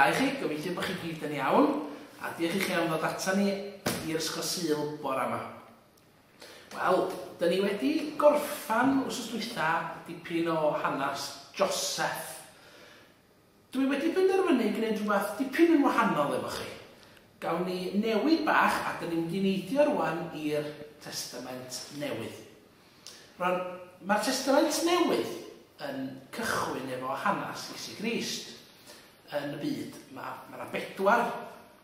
da i chi, gobeithio bod chi gyd yn iawn, a diolch i chi am ddod ata ni i'r Ysgol Sul bore yma. Wel, dyn ni wedi gorffan wsos dwytha dipyn o hanes Joseph. Dwi wedi penderfynu gwneud rhywbeth dipyn yn wahanol efo chi. Gawn ni newid bach a dyn ni'n mynd i neidio rwan i'r Testament Newydd. Rwan, mae'r Testament Newydd yn cychwyn efo hanes Iesu Grist yn y byd. Mae yna bedwar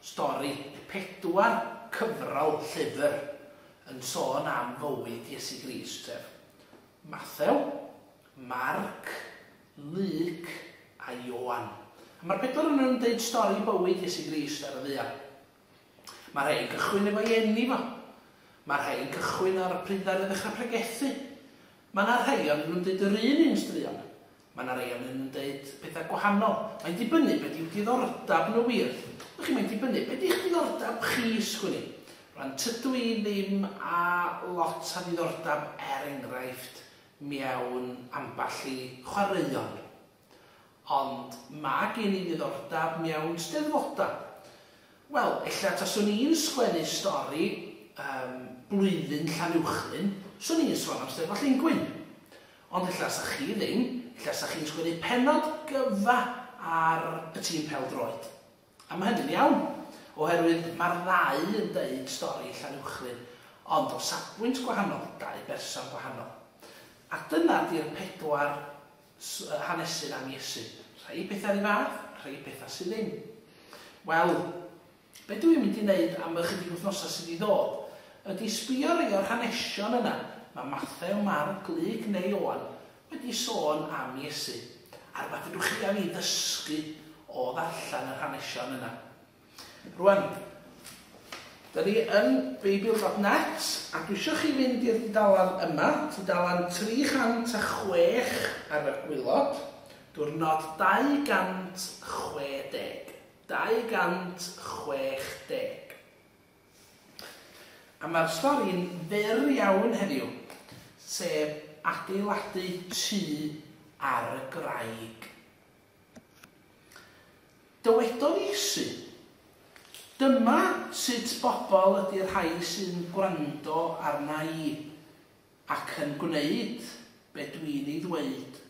stori, pedwar cyfrol llyfr yn sôn am fywyd Iesu Grist, sef Mathew, Marc, Luc a Ioan. A mae'r pedwar ohonyn nhw'n deud stori bywyd Iesu Grist ar y ddaear. Mae rhai yn cychwyn efo'i eni fo. Mae rhai yn cychwyn ar y pryd ddaru ddechrau pregethu. Mae yna rhai ohonyn nhw'n deud yr un un straeon. Mae yna rhai ohonyn nhw'n deud pethau gwahanol. Mae'n dibynnu be di'w diddordab nhw wir. Wch chi, mae'n dibynnu be di'ch diddordab chi, sgwn i. Rwan, tydw i ddim â lot o ddiddordab, er enghraifft, mewn ambell i chwaraeon. Ond ma' gen i ddiddordab mewn steddfoda. Wel, ella taswn i'n sgwennu stori yym blwyddyn Llanuwchllyn, 'swn i'n sôn am Steddfod Llungwyn. Ond ella 'sa chi ddim, ella 'sa chi'n sgwennu pennod gyfa ar y tîm pêl-droed. A ma' hynny'n iawn, oherwydd ma'r ddau yn deud stori Llanuwchllyn, ond o safbwynt gwahanol, dau berson gwahanol. A dyna 'di'r pedwar hanesyn am Iesu. Rhai pethau 'run fath, rhai pethau sydd ddim. Wel, be dw i'n mynd i wneud am ychydig wythnosau sydd i ddod, ydy sbio rhai o'r hanesion yna, mae Mathew, Marc, Luc neu Ioan wedi sôn am Iesu, a rhywbeth fedrwch chi a fi ddysgu o ddarllen yr hanesion yna. Rwan, da ni yn Beibl.net a dwi eisiau chi fynd i'r dudalen yma, tudalen 306 ar y gwylod, diwrnod 260. 260. A mae'r stori'n fyr iawn heddiw, sef adeiladu tŷ ar y graig. Dywedodd Iesu, Dyma sut bobl ydy'r rhai sy'n gwrando arna i, ac yn gwneud be dwi'n ei ddweud.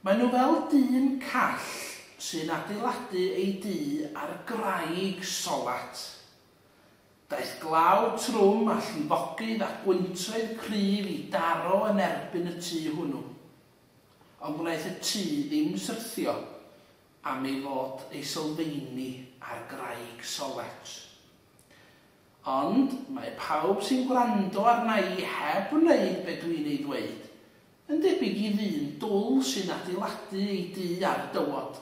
Maen nhw fel dyn call sy'n adeiladu ei dŷ ar graig solat. Daeth glaw trwm a llifogydd a gwyntoedd cryf i daro yn erbyn y tŷ hwnnw. Ond wnaeth y tŷ ddim syrthio, am ei fod ei sylfaeni ar graig solet. Ond mae pawb sy'n gwrando arna i heb wneud be dwi'n ei ddweud, yn debyg i ddyn dwl sy'n adeiladu ei dŷ ar dywod.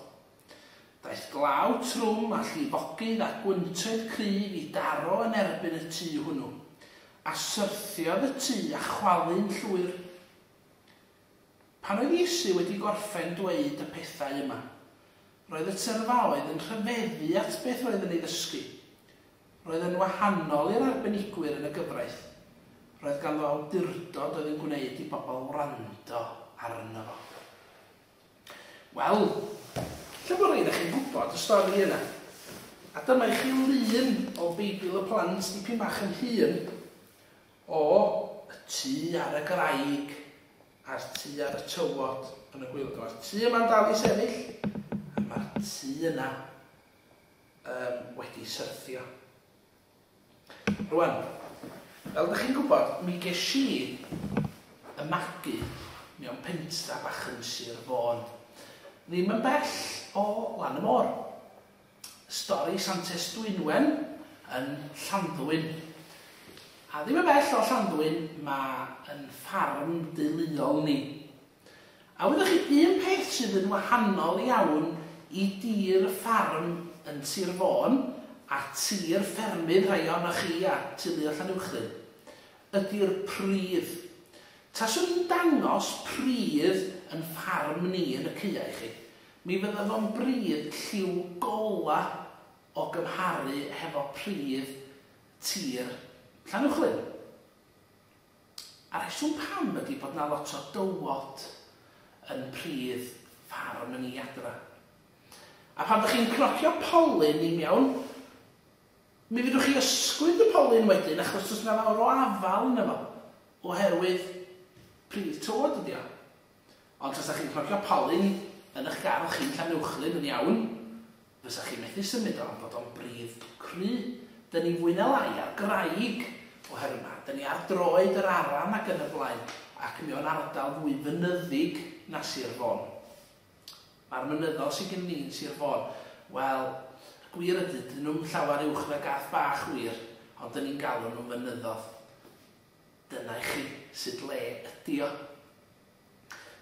Daeth glaw trwm a llifogydd a gwyntoedd cryf i daro yn erbyn y tŷ hwnnw, a syrthiodd y tŷ a chwalu'n llwyr. Pan oedd Iesu wedi gorffen dweud y pethau yma, roedd y tyrfaoedd yn rhyfeddu at beth roedd yn ei ddysgu. Roedd yn wahanol i'r arbenigwyr yn y gyfraith. Roedd ganddo awdurdod oedd yn gwneud i bobl wrando arno fo. Wel, ella bod rhai ohonoch chi'n gwybod y stori yna. A dyma i chi lun o Beibl y Plant dipyn bach yn hŷn. O, y tŷ ar y graig a'r tŷ ar y tywod yn y gwaelod. Mae'r tŷ yma'n dal i sefyll, a mae'r tŷ yna um, wedi syrthio. Rwan, fel ydych chi'n gwybod, mi ges i y magu mewn pentra bach yn Sir Fôn. Ddim yn bell o lan y môr. Stori Santes Dwynwen yn Llanddwyn. A ddim yn bell o Llanddwyn mae yn ffarm deuluol ni. A wyddoch chi, un peth sydd yn wahanol iawn i dir y ffarm yn Sir Fôn a tir ffermydd rhai ohonoch chi a teulu o Llanuwchllyn, ydi'r pridd. Taswn i'n dangos pridd yn ffarm ni yn y caeau i chi, Mi fydda fo'n bridd lliw gola o gymharu hefo pridd tir Llanuwchllyn. A rheswm pam ydi bod 'na lot o dywod yn pridd ffarm yn ni adra. A pan ydych chi'n cnocio polyn i mewn, mi fedrwch chi ysgwyd y polyn wedyn achos does 'na fawr o afal yno fo, oherwydd pridd tywod ydi o. Ond tasa chi'n cnocio polyn yn eich gardd chi'n Llanuwchllyn yn iawn, fysa chi methu symud o am fod o'n bridd cry. Dyn ni fwy na lai ar graig oherwydd ma, dyn ni ar droed yr Aran ac yn y blaen, ac mewn ardal fwy fynyddig na Sir Fôn. Mae'r mynyddoedd sydd gen ni yn Sir Fôn, wel, y gwir ydy, dyn nhw'm llawer uwch na gath bach wir, ond dyn ni'n galw nhw'n fynyddoedd. Dyna i chi sut le ydy o.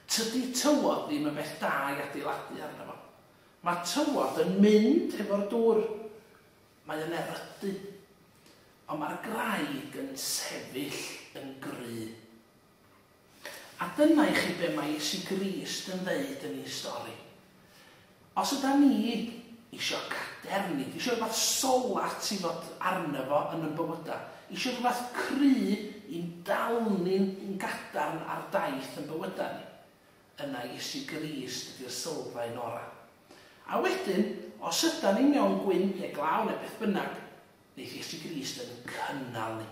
Tydi tywod ddim yn beth da i adeiladu arno fo. Mae tywod yn mynd hefo'r dŵr. Mae o'n erydu. Ond mae'r graig yn sefyll yn gry. A dyna i chi be mae Iesu Grist yn ddeud yn ei stori. Os yda ni isio cadernid, isio rhywbeth solat i fod arno fo yn yn bywydau, isio rhywbeth cry i'n dal ni'n gadarn ar daith yn bywydau ni, yna Iesu Grist ydy'r sylfaen orau. A wedyn, os yda ni mewn gwynt neu glaw neu beth bynnag, neith Iesu Grist yn cynnal ni,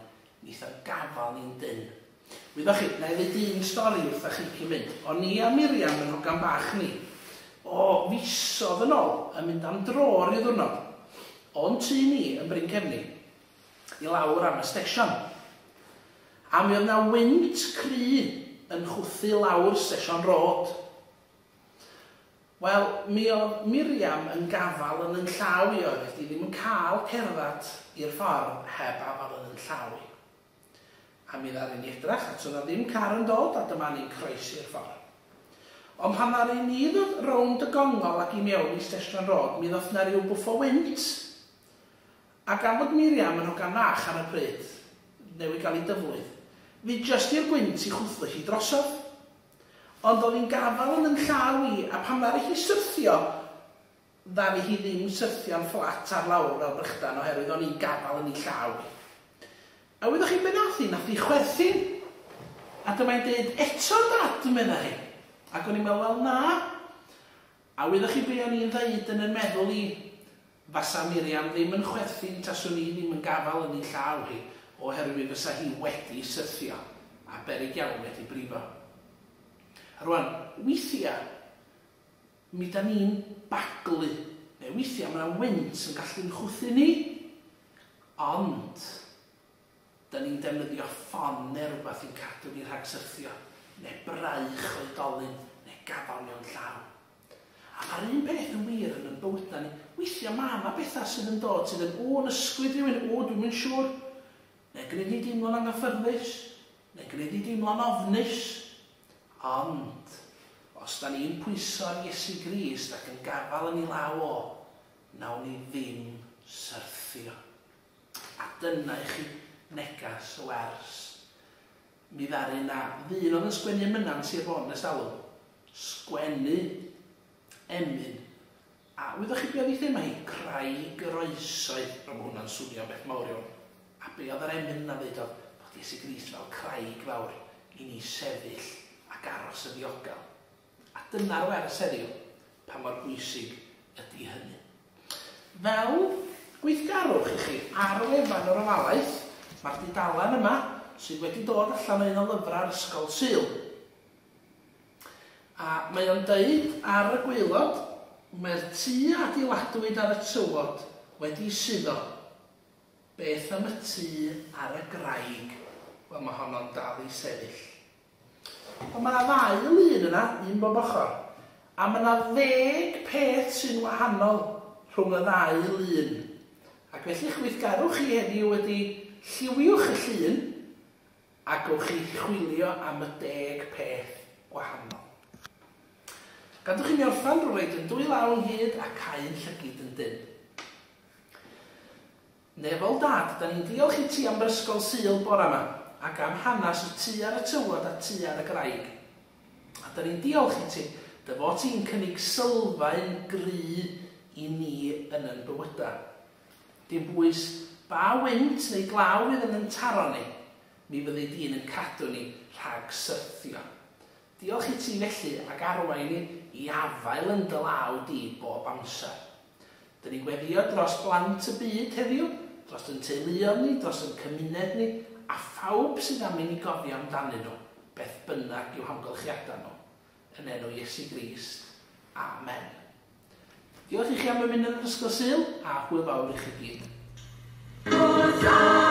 neith o'n gafal ni'n dynn. Wyddoch chi, na i ddeud un stori wrtha chi cyn mynd. O'n i a Miriam yn hogan bach ni, o fisodd yn ôl, yn mynd am dro ryw ddiwrnod, o'n tŷ ni yn Bryn Cefni, i lawr am y stesion. A mi oedd 'na wynt cry yn chwthu lawr Station Road. Wel, mi oedd Miriam yn gafal yn 'yn llaw i, oedd hi ddim yn cael cerdded i'r ffordd heb afal yn 'yn llaw i. A mi ddaru ni edrach, a toedd 'na ddim car yn dod, a dyma ni'n croesi'r ffordd. Ond pan ddaru ni ddod rownd y gongol ac i mewn i Station Road, mi ddoth 'na ryw bwff o wynt. A gan fod Miriam yn hogan fach ar y pryd, newydd gael ei dyflwydd, fi jyst i'r gwynt i chwthu hi drosodd. Ond oedd hi'n gafael yn 'yn llaw i, a pan ddaru hi syrthio, Ddaru hi ddim syrthio'n fflat ar lawr fel brechdan oherwydd o'n i'n gafael yn ei llaw hi. A wyddoch chi be nath hi? Nath hi chwerthin. A dyma hi'n deud, 'Eto Dad? medda hi. Ac o'n i'n meddwl, 'Wel na. A wyddoch chi be o'n i'n ddeud yn 'yn meddwl i? Fasa Miriam ddim yn chwerthin taswn i ddim yn gafael yn ei llaw hi oherwydd fysa hi wedi syrthio a beryg iawn wedi brifo. A rwan, weithia, Mi 'dan ni'n baglu, neu weithiau mae 'na wynt yn gallu'n chwythu ni, ond 'dan ni'n defnyddio ffon neu rywbeth i'n cadw ni rhag syrthio, neu braich oedolyn, neu gafael mewn llaw. A mae'r un peth yn wir yn 'yn bywydau ni. Weithiau mae 'na bethau sydd yn dod sydd yn, o, yn ysgwyd rhywun, o, dwi'm yn siŵr, neu gwneud ni deimlo'n anghyffyrddus, neu gwneud ni deimlo'n ofnus. Ond, os 'da ni'n pwyso ar Iesu Grist ac yn gafael yn ei law o, wnawn ni ddim syrthio. A dyna i chi neges y wers. Mi ddaru 'na ddyn oedd yn sgwennu emynau yn Sir Fôn ers talwm, sgwennu emyn. A wyddoch chi be oedd ei thema hi? Craig yr Oesoedd. Rwan mae hwnna'n swnio'n beth mawr iawn. A be oedd yr emyn yna'n ddeud oedd bod Iesu Grist fel craig fawr i ni sefyll ac aros yn ddiogel. A dyna'r wers heddiw, pa mor bwysig ydy hynny. Fel gweithgarwch i chi ar wefan yr Ofalaeth, mae'r dudalen yma sydd wedi dod allan o un o lyfrau'r Ysgol Sul. A mae o'n deud ar y gwaelod, mae'r tŷ a adeiladwyd ar y tywod wedi suddo. Beth am y tŷ ar y graig? Wel, mae honno'n dal i sefyll. Ond mae 'na ddau lun yna, un bob ochr. A mae 'na ddeg peth sy'n wahanol rhwng y ddau lun. Ac felly eich gweithgarwch chi heddiw ydy lliwiwch y llun a gewch chi chwilio am y deg peth gwahanol. Gadwch i mi orffen drwy roid yn dwy law ynghyd a cau'n llygid yn dynn. Nefol Dad, da ni'n diolch i ti am yr Ysgol Sul bora 'ma, ac am hanes y tŷ ar y tywod a tŷ ar y graig. A da ni'n diolch i ti, dy fod ti'n cynnig sylfaen gry i ni yn 'yn bywyda. Dim bwys ba wynt neu glaw fydd yn 'yn taro ni, mi fyddi di'n 'yn cadw ni rhag syrthio. Diolch i ti felly ag arwain ni i afael yn dy law di bob amser. Dyn ni'n gweddio dros blant y byd heddiw, dros yn teuluoedd ni, dros yn cymuned ni, a phawb sydd am i ni gofio amdanyn nhw, beth bynnag i'w hamgylchiadau nhw. Yn enw Iesu Grist. Amen. Diolch i chi am ymuno yn yr Ysgol Sul, a hwyl fawr i chi gyd. Hosanna.